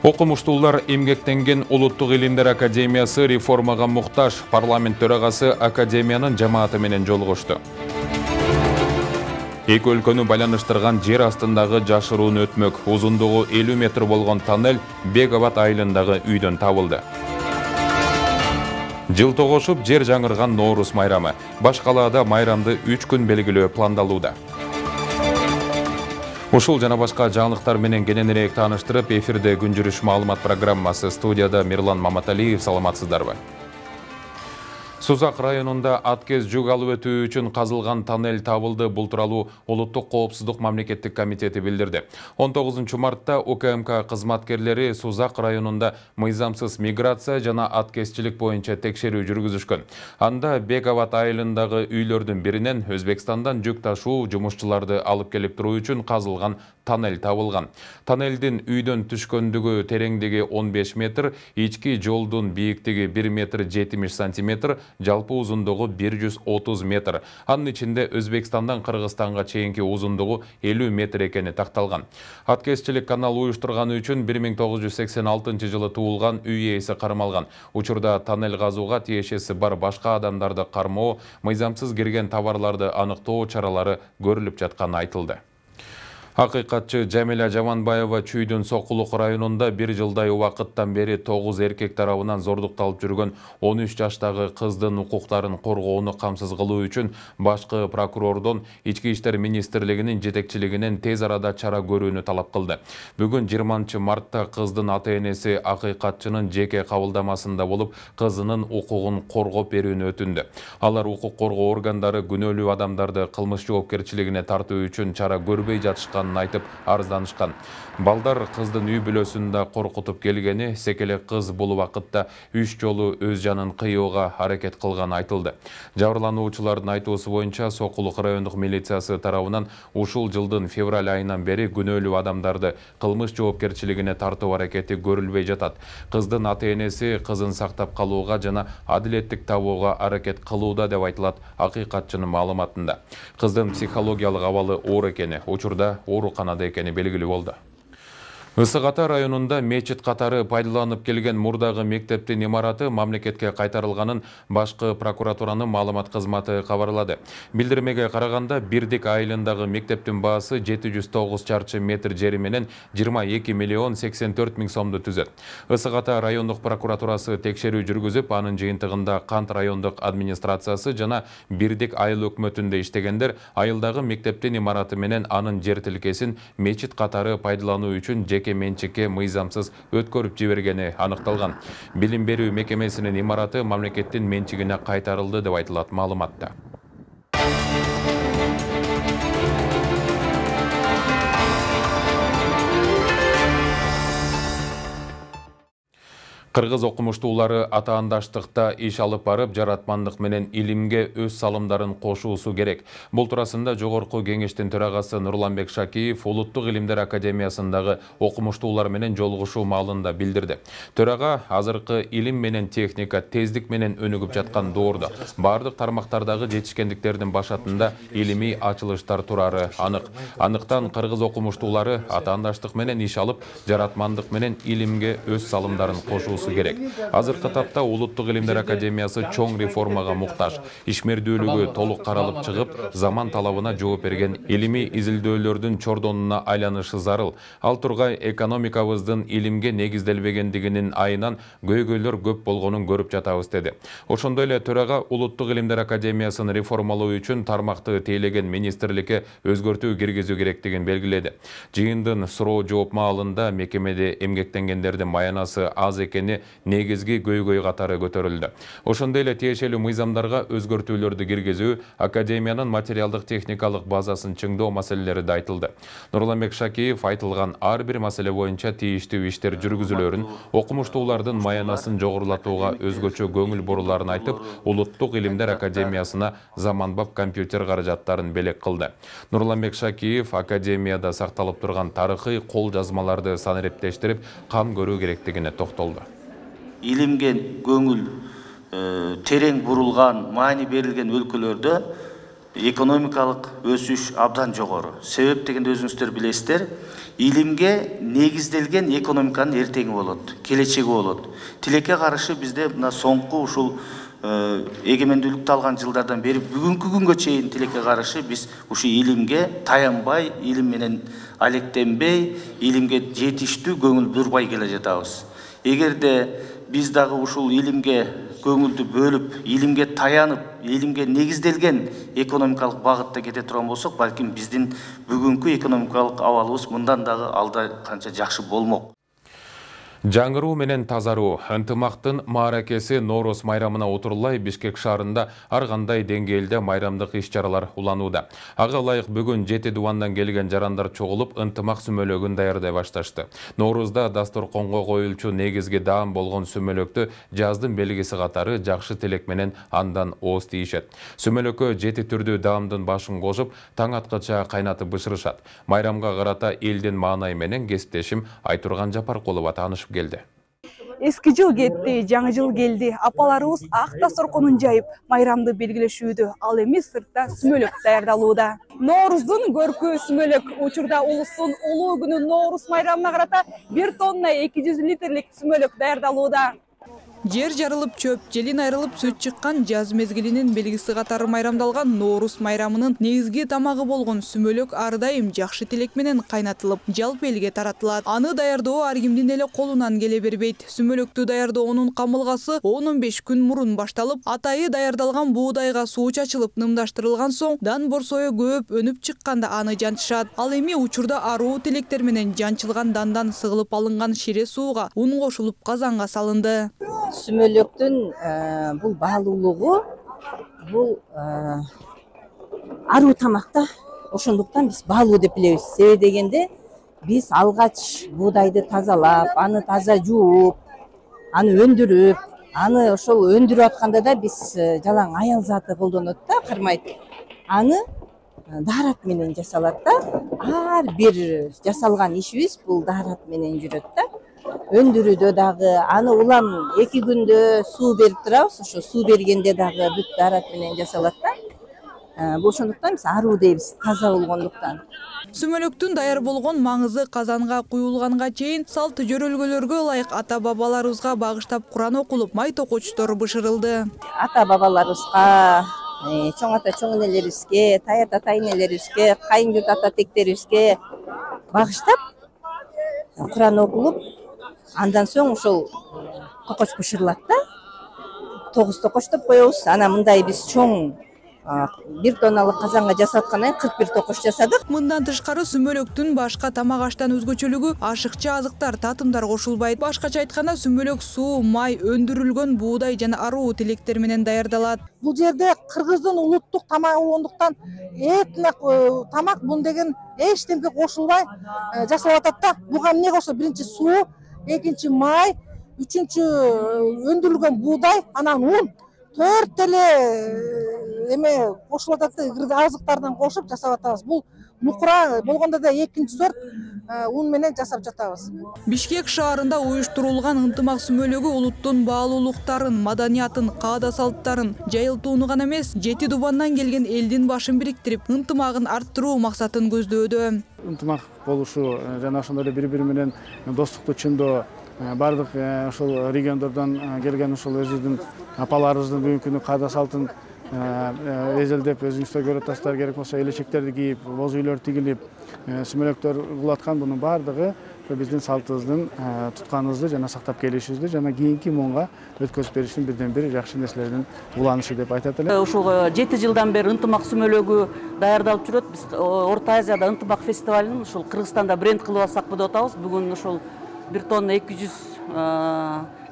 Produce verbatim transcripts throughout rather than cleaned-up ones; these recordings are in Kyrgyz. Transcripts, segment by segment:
Окумуштуулар эмгектенген Улуттук илимдер академиясы реформага муктаж. Парламент төрагасы академиянын жамааты менен жолугушту. Эки өлкөнү байланыштырган жер астындагы жашыруун өтмөк. Узундугу элүү метр болгон тоннель Бек-Абад айылындагы үйдөн табылды. Жыл тогошуп жер жаңырган Ноорус майрамы. Баш калаада майрамды үч күн белгилөө пландалууда. Ушул жана башка жаңылыктар менен кененирээк тааныштырып, эфирде күн жүрүш маалымат программасы. Студияда Мирлан Маматалиев. Саламатсыздарбы? Сузак районунда аткез жүк алып өтүү үчүн казылган тоннель табылды. Бул тууралуу Улуттук коопсуздук мамлекеттик комитети билдирди. он тогузунчу мартта У К М К кызматкерлери Сузак районунда мыйзамсыз миграция жана аткезчилик боюнча текшерүү жүргүзүшкөн. Анда Бек-Абад айылындагы үйлөрдүн биринен Өзбекстандан жүк ташуу жумушчуларды алып келип туруу үчүн казылган тоннель табылган. Тоннелдин үйдөн түшкөндүгү тереңдиги он беш метр, ички жолдун бийиктиги бир метр жетимиш сантиметр, жалпы узундугу бир жүз отуз метр. Анын ичинде Өзбекстандан Кыргызстанга чейинки узундугу элүү метр экени такталган. Аткезчилик канал уюштурганы үчүн бир миң тогуз жүз сексен алтынчы жылы туулган үй ээси кармалган. Учурда тоннель казууга тиешеси бар башка адамдарды кармоо, мыйзамсыз кирген товарларды аныктоо чаралары көрүлүп жатканы айтылды. Акыйкатчы Жамиля Жаманбаева Чүйдүн Сокулук районунда бир жылдай убакыттан бери тогуз эркек тарабынан зордукталып жүргөн он үч жаштагы кыздын укуктарын коргоону камсыз кылуу үчүн башкы прокурордон Ички иштер министрлигинин жетекчилигинен тез арада чара көрүүнү талап кылды. Бүгүн жыйырманчы мартта кыздын ата-энеси акыйкатчынын жеке кабылдамасында болуп, кызынын укугун коргоп берүүнү өтүндү. Алар укук коргоо органдары күнөөлүү адамдарды кылмыш жоопкерчилигине тартуу үчүн чара көрбөй жатышкан айтып арызданышкан. Балдар кыздын үй бүлөсүндө коркутуп келгени, секеле кыз бул убакытта үч жолу өз жанын кыюуга аракет кылганы айтылды. Жабырлануучулардын айтуусу боюнча Сокулук райондук милициясы тарабынан ушул жылдын февраль айынан бери күнөөлүү адамдарды кылмыш жоопкерчилигине тартуу аракети көрүлбөй жатат. Кыздын ата-энеси кызын сактап калууга жана адилеттик табууга аракет кылууда деп айтылат акыйкатчынын маалыматында. Кыздын психологиялык абалы оор экени, учурда ооруканада экени белгилүү болду. Ысык Ата районунда мечит катары пайдаланып келген мурдагы мектептин имараты мамлекетке кайтарылганын башкы прокуратуранын маалымат кызматы кабарлады. Билдирмеге караганда, Бирдик айылындагы мектептин баасы жети жүз тогуз чарчы метр жери менен жыйырма эки миллион сексен төрт миң сомду түзөт. Ысык Ата райондук прокуратурасы текшерүү жүргүзүп, анын жыйынтыгында Кант райондук администрациясы жана Бирдик айыл өкмөтүндө иштегендер айылдагы мектептин имараты менен анын жер тилкесин мечит катары пайдалануу үчүн жеке менчикке мыйзамсыз өткөрүп жибергени аныкталган. Билим берүү мекемесинин имараты мамлекеттин менчигине кайтарылды деп айтылат маалыматта. Кыргыз окумуштуулары атаандаштыкта иш алып барып, жаратмандык менен илимге өз салымдарын кошуусу керек. Бул туурасында Жогорку Кеңештин төрагасы Нурланбек Шакиев Улуттук илимдер академиясындагы окумуштуулар менен жолугушуу маалында билдирди. Төрага азыркы илим менен техника тездик менен өнүгүп жаткан доордо бардык тармактардагы жетишкендиктердин башатында илимий ачылыштар турары анык. Андыктан кыргыз окумуштуулары атаандаштык менен иш алып, жаратмандык менен илимге өз салымдарын кошуусу керек. Азыркы тапта Улуттук илимдер академиясы чоң реформага муктаж. Ишмердүүлүгү толук каралып чыгып, заман талабына жооп берген илимий изилдөөлөрдүн чордонуна айланышы зарыл. Ал тургай экономикабыздын илимге негизделбегендигинин айынан көйгөйлөр көп болгонун көрүп жатабыз деди. Ошондой эле төрага Улуттук илимдер академиясын реформалоо үчүн тармакты тейлеген министрликке өзгөртүү киргизүү керектигин белгиледи. Жыйындын суроо жооп маалында мекемеде эмгектенгендердин маянасы аз экени кишини негизги көйгөй катары көтөрүлдү. Ошондой эле тиешелүү мыйзамдарга өзгөртүүлөрдү киргизүү, академиянын материалдык техникалык базасын чыңдоо маселелери да айтылды. Нурланбек Шакиев айтылган ар бир маселе боюнча тийиштүү иштер жүргүзүлөрүн, окумуштуулардын маянасын жогорулатууга өзгөчө көңүл буруларын айтып, Улуттук илимдер академиясына заманбап компьютер каражаттарын белек кылды. Нурланбек Шакиев академияда сакталып турган тарыхый кол жазмаларды санариптештирип, кам көрүү керектигине токтолду. Илимге көңүл терең бурулган, маани берилген өлкөлөрдө экономикалык өсүш абдан жогору. Себеп дегенде өзүңүздөр билесиздер, илимге негизделген экономиканын эртеңи болот, келечеги болот. Тилекке каршы бизде мына соңку ушул эгемендүүлүктү алган жылдардан бери бүгүнкү күнгө чейин тилекке каршы биз ушу илимге таянбай, илим менен алектенбей, илимге жетиштүү көңүл бурбай келе жатабыз. Эгерде биз дагы ушул илимге көңүлдү бөлүп, илимге таянып, илимге негизделген экономикалык багытта кете турган болсок, балким биздин бүгүнкү экономикалык абалыбыз мындан дагы алда канча жакшы болмок. Жаңыруу менен тазаруу ынтымактын мааракеси Ноорус майрамына отурлай Бишкек шаарында ар кандай деңгээлде майрамдык иш-чаралар уланууда. Ага ылайык бүгүн жети дубандан келген жарандар чогулуп ынтымак сүмөлөгүн даярдай башташты. Ноорузда дасторконго коюлчу негизги даам болгон сүмөлөктү жаздын белгиси катары жакшы тилек менен андан ооз тийишет. Сүмөлөккө жети түрдүү даамдын башын кошуп, таң аткача кайнатып бышырышат. Майрамга карата элдин маанай менен кесиптешим Айтурган Жапаркулова таанышып келди. Эски жыл кетти, жаңы жыл келди. Апаларыбыз ак дасторконун жайып, майрамды белгилешүүдө, ал эми сыртта сүмөлөк даярдалууда. Нооруздун көркү сүмөлөк учурда улустун улуу күнү Ноорус майрамына карата бир тонна эки жүз литрлик сүмөлөк даярдалууда. Жер жарылып чөп, желин айрылып сүт чыккан жаз мезгилинин белгиси катары майрамдалган Ноорус майрамынын негизги тамагы болгон сүмөлөк ар дайым жакшы тилек менен кайнатылып, жалпы элге таратылат. Аны даярдоо ар кимдин эле колунан келе бербейт. Сүмөлөктү даярдоонун камылгасы он он беш күн мурун башталып, атайы даярдалган буудайга суу чачылып, нымдаштырылган соң дан борсою көп өнүп чыкканда аны жантышат. Ал эми учурда аруу тилектер менен жанчылган дандан сыгылып алынган шире сууга ун кошулуп казанга салынды. Сүмөлөктүн бул баалуулугу бул аруу тамакта, ошондуктан биз баалуу деп билебиз. Себеби дегенде биз алгач буудайды тазалап, аны таза жууп, аны өндүрүп, аны ошол өндүрүп атканда да биз жалаң аял заты колдонот да, кармайт. Аны даарат менен жасалат да. Ар бир жасалган ишибиз бул даарат менен жүрөт да. Өндүрүүдө дагы аны улам эки күндө суу берип турабыз. Ошо суу бергенде дагы бүт даарат менен жасалат да. Бул ошондуктан биз аруу дейбиз, таза болгондуктан. Сүмөлөктүн даяр болгон маңызы казанга куюлганга чейин салт жөрөлгөлөргө ылайык ата бабаларыбызга багыштап Куран окулуп, май токочтор бышырылды. Ата бабаларыбызга, чоң ата чоң энелерибизге, тай ата тай энелерибизге, кайын журт ата тектерибизге багыштап Куран окулуп, андан соң ошол токоч бышырылат да. Тогуз токоч деп коебуз. Анан мындай биз чоң бир тонналык казанга жасаткандан кийин кырк бир токоч жасадык. Мындан тышкары сүмөлөктүн башка тамак аштан өзгөчөлүгү ашыкча азыктар, татымдар кошулбайт. Башкача айтканда сүмөлөк суу, май, өндүрүлгөн буудай жана аруу тилектер менен даярдалат. Бул жерде кыргыздын улуттук тамагы болгондуктан этник тамак бун деген эчтемке кошулбай жасалып атат да. Буга эмне кошулат? Биринчи суу, экинчи май, үчүнчү өндүрүлгөн буудай, анан ун, төрт эле эме кошулуп атат, азыктардан кошуп жасап атабыз. Бул нукура болгондо да экинчи сорт ун менен жасап жатабыз. Бишкек шаарында уюштурулган ынтымак сүмөлөгү улуттун баалуулуктарын, маданиятын, каада салттарын жайылтууну гана эмес, жети дубандан келген элдин башын бириктирип, ынтымагын арттыруу максатын көздөөдө. Ынтымак болушу жана ошондой эле бири-бири менен достукту чындоо, бардык ошол региондордон келген ушул өзүбүздүн апаларыбыздын бүгүнкү күнү каада салтын эзелдеп, өзүңүздөр көрүп атасыздар, керек болсо элечектерди кийип, боз үйлөр тигилип, сүмөлөктөр кылаткан, бунун баардыгы биздин салтыбыздын тутканыбызды жана сактап келишибизди жана кийинки муунга өткөзүп бериштин бирден бир жакшы нерселердин уланышы деп айтат элем. Ушул жети жылдан бери ынтымак сүмөлөгү даярдалып жүрөт. Биз Орто Азияда ынтымак фестивалын ушул Кыргызстанда бренд кылып алсакпы деп атабыз. Бүгүн ушул бир тонна эки жүз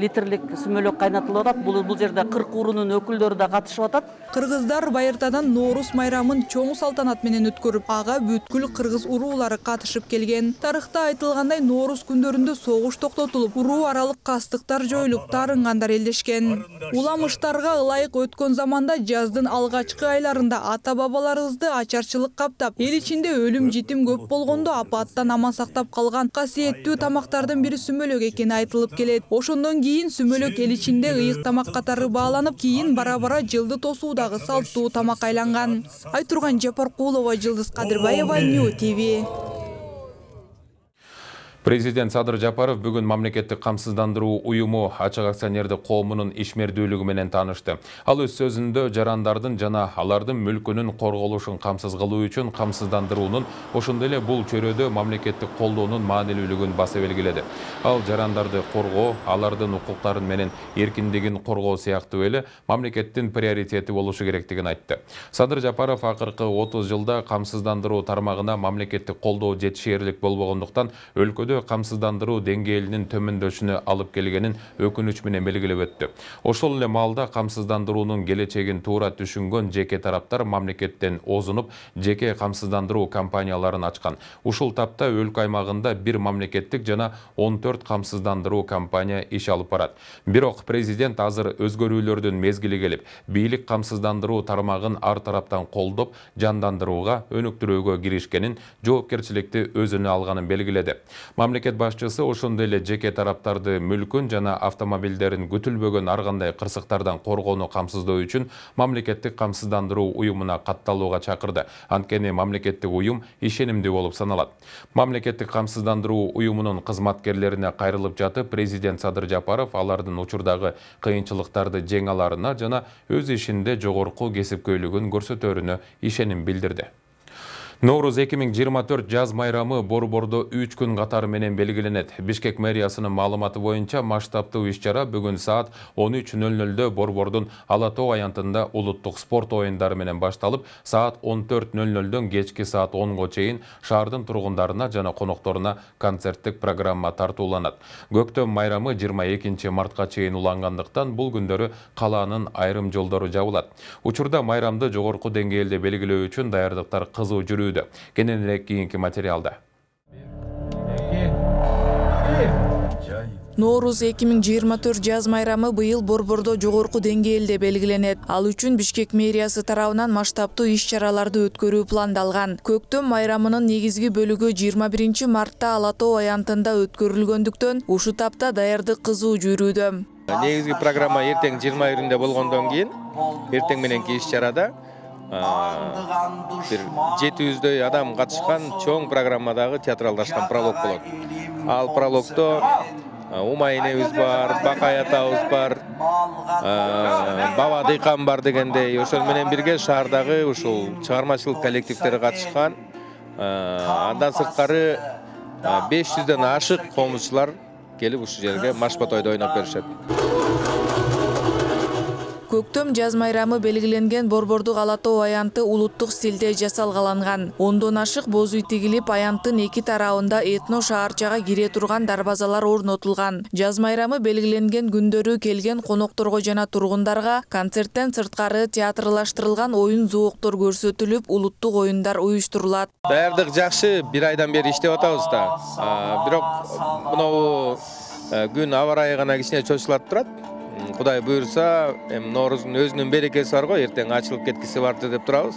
литрлик сүмөлөк кайнатылып атат. Бул бул жерде кырк урунун өкүлдөрү да катышып атат. Кыргыздар байыртадан Ноорус майрамын чоң салтанат менен өткөрүп, ага бүткүл кыргыз уруулары катышып келген. Тарыхта айтылгандай Ноорус күндөрүндө согуш токтотулуп, уруу аралык кастыктар жоюлуп, тарынгандар элдешкен. Уламыштарга ылайык өткөн заманда жаздын алгачкы айларында ата-бабаларыбызды ачарчылык каптап, эл ичинде өлүм житим көп болгондо апаттан аман сактап калган касиеттүү тамактардын бири сүмөлөк экени айтылып келет. Ошондон кийин сүмөлөк эл ичинде ыйык тамак катары бааланып, кийин бара-бара жылды тосуудагы салттуу тамак айланган. Айтурган Жапаркулова, Жылдыз Кадырбаева, Нью ТВ. Президент Садыр Жапаров бүгүн мамлекеттик камсыздандыруу уюму ачык акционердик коомунун ишмердүүлүгү менен таанышты. Ал өз сөзүндө жарандардын жана алардын мүлкүнүн корголушун камсыз кылуу үчүн камсыздандыруунун, ошондой эле бул чөйрөдө мамлекеттик колдоонун маанилүүлүгүн баса белгиледи. Ал жарандарды коргоо, алардын укуктарын менен эркиндигин коргоо сыяктуу эле мамлекеттин приоритети болушу керектигин айтты. Садыр Жапаров акыркы отуз жылда камсыздандыруу тармагына мамлекеттик колдоо жетишээрлик болбогондуктан өлкөдө камсыздандыруу деңгээлинин төмөндөшүнө алып келгенин өкүнүч менен белгилеп өттү. Ошол эле маалда камсыздандыруунун келечегин туура түшүнгөн жеке тараптар мамлекеттен озунуп, жеке камсыздандыруу компанияларын ачкан. Ушул тапта өлкө аймагында бир мамлекеттик жана он төрт камсыздандыруу компания иш алып барат. Бирок президент азыр өзгөрүүлөрдүн мезгили келип, бийлик камсыздандыруу тармагын ар тараптан колдоп, жандандырууга, өнүктүрүүгө киришкенин, жоопкерчиликти өзүнө алганын белгиледи. Мамлекет башчысы ошондой эле жеке тараптарды мүлкүн жана автомобилдерин күтүлбөгөн ар кандай кырсыктардан коргоону камсыздоо үчүн мамлекеттик камсыздандыруу уюмуна катталууга чакырды. Анткени мамлекеттик уюм ишенимдүү болуп саналат. Мамлекеттик камсыздандыруу уюмунун кызматкерлерине кайрылып жатып, президент Садыр Жапаров алардын учурдагы кыйынчылыктарды жеңе аларына жана өз ишинде жогорку кесипкөйлүгүн көрсөтөрүнө ишеним билдирди. Ноорус эки миң жыйырма төрт жаз майрамы Борбордо үч күн катары менен белгиленет. Бишкек мэриясынын маалыматы боюнча масштабтуу иш-чара бүгүн саат он үч нөл нөлдө Борбордун Ала тоо аянтында улуттук спорт оюндары менен башталып, саат он төрт нөл нөлдөн кечки саат онго чейин шаардын тургундарына жана конокторуна концерттик программа тартууланат. Көктөм майрамы жыйырма экинчи мартка чейин улангандыктан бул күндөрү калаанын айрым жолдору жабылат. Учурда майрамды жогорку деңгээлде белгилөө үчүн даярдыктар кызуу жүрүүдө. Кененирээк кийинки материалда. Ноорус эки миң жыйырма төрт жаз майрамы быйыл Борбордо жогорку деңгээлде белгиленет. Ал үчүн Бишкек мэриясы тарабынан масштабтуу иш-чараларды өткөрүү пландалган. Көктөм майрамынын негизги бөлүгү жыйырма биринчи мартта Ала тоо аянтында өткөрүлгөндүктөн ушу тапта даярдык кызуу жүрүүдө. Негизги программа эртең жыйырма биринде болгондон кийин эртең мененки иш-чарада бир жети жүздөй адам катышкан чоң программадагы театралдашкан пролог болот. Ал прологдо Умай энебиз бар, Бакай атабыз бар, Баба Дыйкан бар дегендей, ошол менен бирге шаардагы ушул чыгармачылык коллективдери катышкан. Андан сырткары беш жүздөн ашык комузчулар келип ушул жерге Машбатойдо ойноп беришет. Көктөм жаз майрамы белгиленген Борбордук Ала тоо аянты улуттук стилде жасалгаланган. Ондон ашык боз үй тигилип, аянттын эки тарабында этно шаарчага кире турган дарбазалар орнотулган. Жаз майрамы белгиленген күндөрү келген конокторго жана тургундарга концерттен сырткары театрлаштырылган оюн зооктор көрсөтүлүп, улуттук оюндар уюштурулат. Даярдык жакшы, бир айдан бери иштеп атабыз да. Бирок мынау күн аба ырайы гана кичине чочулатып турат. Кудай буйрса, Ноорузун өзүнүн берекеси бар го, эртең ачылып кеткиси барды деп турабыз.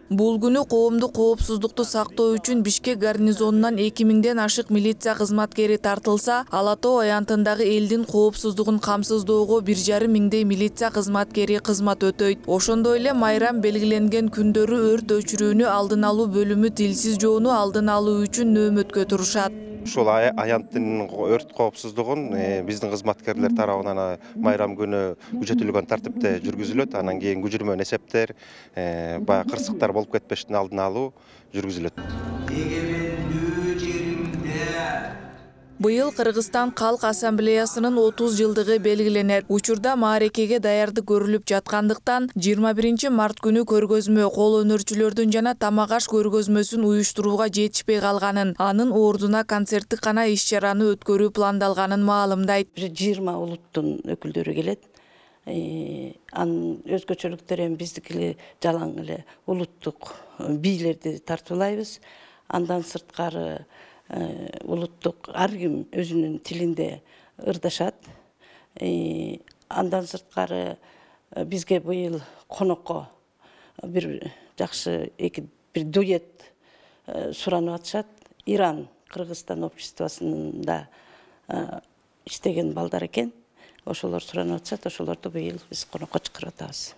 Бул күнү коомдук коопсуздукту сактоо үчүн Бишкек гарнизонунан эки миңден ашык милиция кызматкери тартылса, Ала тоо аянтындагы элдин коопсуздугун камсыздоого бир жарым миңдей милиция кызматкери кызмат өтөйт. Ошондой эле майрам белгиленген күндөрү өрт өчүрүүнү алдын алуу бөлүмү тилсиз жоону алдын алуу үчүн нөөмөткө турушат. Ушул аянттын өрт коопсуздугун биздин кызматкерлер тарабынан майрам күнү күчөтүлгөн тартипте жүргүзүлөт. Анан кийин күчүрмөн эсептер, баягы кырсыктар болуп кетпештин алдын алуу жүргүзүлөт. Быйыл Кыргызстан Калк Ассамблеясынын отуз жылдыгы белгиленет. Учурда маарекеге даярдык көрүлүп жаткандыктан жыйырма биринчи март күнү көргөзмө кол өнөрчүлөрдүн жана тамак аш көргөзмөсүн уюштурууга жетишпей калганын, анын ордуна концерттик гана иш-чараны өткөрүү пландалганын маалымдайт. жыйырма улуттун өкүлдөрү келет. Анын өзгөчөлүктөрү эми биздики жалаң эле улуттук бийлерди тартуулайбыз. Андан сырткары улуттук ар ким өзүнүн тилинде ырдашат. Андан сырткары бизге быйыл конокко бир жакшы эки бир дуэт суранып атышат. Иран Кыргызстан обществосунда иштеген балдар экен. Ошолор суранып атышат, ошолорду быйыл биз конокко чакырып атабыз.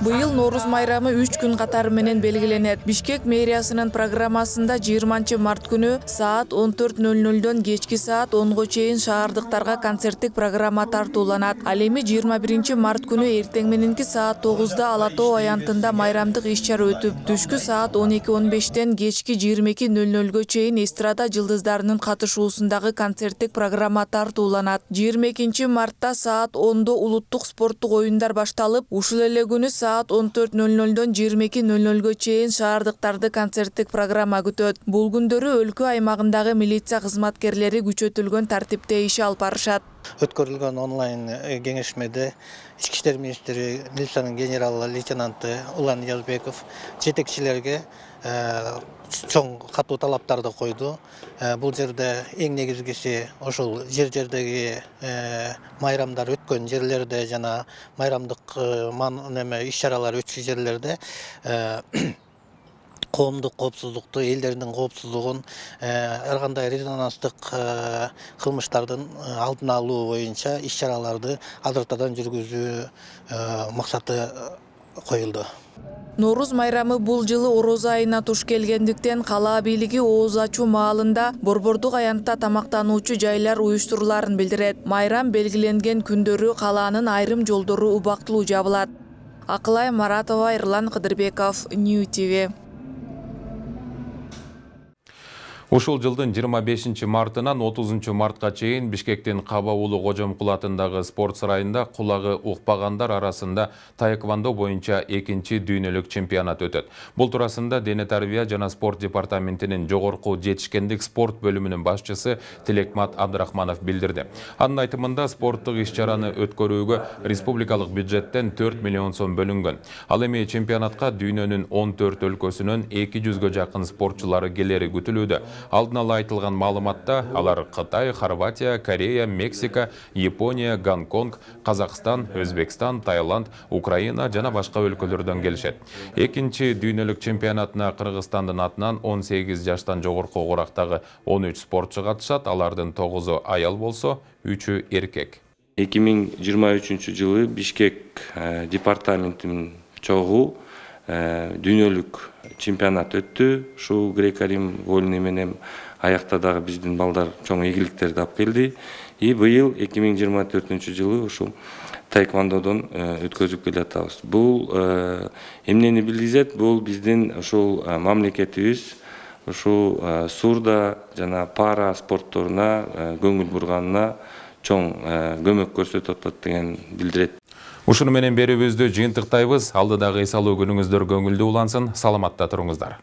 Быйыл Нооруз майрамы үч күн катары менен белгиленет. Бишкек мэриясынын программасында жыйырманчы март күнү саат он төрт ноль нольдон кечки саат онго чейин шаардыктарга концерттик программа тартууланат. Ал эми жыйырма биринчи март күнү эртең мененки саат тогузда Ала Тоо аянтында майрамдык иш-чара өтүп, түшкү саат он эки он бештен кечки жыйырма эки ноль нольго чейин эстрада жылдыздарынын катышуусундагы концерттик программа тартууланат. жыйырма экинчи мартта саат ондо улуттук спорттук оюндар башталып, ушул эле күнү саат он төрт ноль нольдон жыйырма эки ноль нольго чейин шаардыктарды концерттик программа күтөт. Бул күндөрү өлкө аймагындагы милиция кызматкерлери күчөтүлгөн тартипте иш алып барышат. Өткөрүлгөн онлайн кеңешмеде Ички иштер министри милициянын генерал-лейтенанты Улан Язбеков жетекчилерге чоң катуу талаптарды койду. Бул жерде эң негизгиси ошол жер-жердеги майрамдар өткөн жерлерде жана майрамдык неме иш-чаралар өткөн жерлерде коомдук коопсуздукту, элдердин коопсуздугун, ар кандай резонанстык кылмыштардын алдын алуу боюнча иш-чараларды азыртадан жүргүзүү максаты коюлду. Нооруз майрамы бул жылы Орозо айына туш келгендиктен кала бийлиги ооз ачуу маалында борбордук аянтта тамактануучу жайлар уюштуруларын билдирет. Майрам белгиленген күндөрү калаанын айрым жолдору убактылуу жабылат. Акылай Маратова, Эрлан Кыдырбеков, Нью ти ви. Ушул жылдын жыйырма бешинчи мартынан отузунчу мартка чейин Бишкектин Каба уулу Кожомкул атындагы спорт сарайында кулагы укпагандар арасында таэквондо боюнча экинчи дүйнөлүк чемпионат өтөт. Бул туурасында Дене тарбия жана спорт департаментинин жогорку жетишкендик спорт бөлүмүнүн башчысы Тилекмат Абдрахманов билдирди. Анын айтымында спорттук иш-чараны өткөрүүгө республикалык бюджеттен төрт миллион сом бөлүнгөн. Ал эми чемпионатка дүйнөнүн он төрт өлкөсүнөн эки жүзгө жакын спортчулары келери күтүлүүдө. Алдын ала айтылган маалыматта алар Кытай, Хорватия, Корея, Мексика, Япония, Гонконг, Казакстан, Өзбекстан, Таиланд, Украина жана башка өлкөлөрдөн келишет. Экинчи дүйнөлүк чемпионатына Кыргызстандын атынан он сегиз жаштан жогорку курактагы он үч спортчу катышат, алардын тогузу аял болсо, үчү эркек. эки миң жыйырма үчүнчү жылы Бишкек департаментинин чогуу дүйнөлүк чемпионат өттү. Ушул греко-рим вольный менен аякта дагы биздин балдар чоң ийгиликтерди алып келди. И быйыл эки миң жыйырма төртүнчү жылы ушул таэквондодон өткөзүп келатабыз. Бул эмнени билдирет? Бул биздин ушул мамлекетибиз ушул сурда жана пара спортторуна көңүл бурганына чоң көмөк көрсөтүп атат деген билдирет. Ушуну менен берүүбүздү жыйынтыктайбыз. Алдыдагы эс алуу күнүңүздөр көңүлдүү улансын. Саламатта туруңуздар.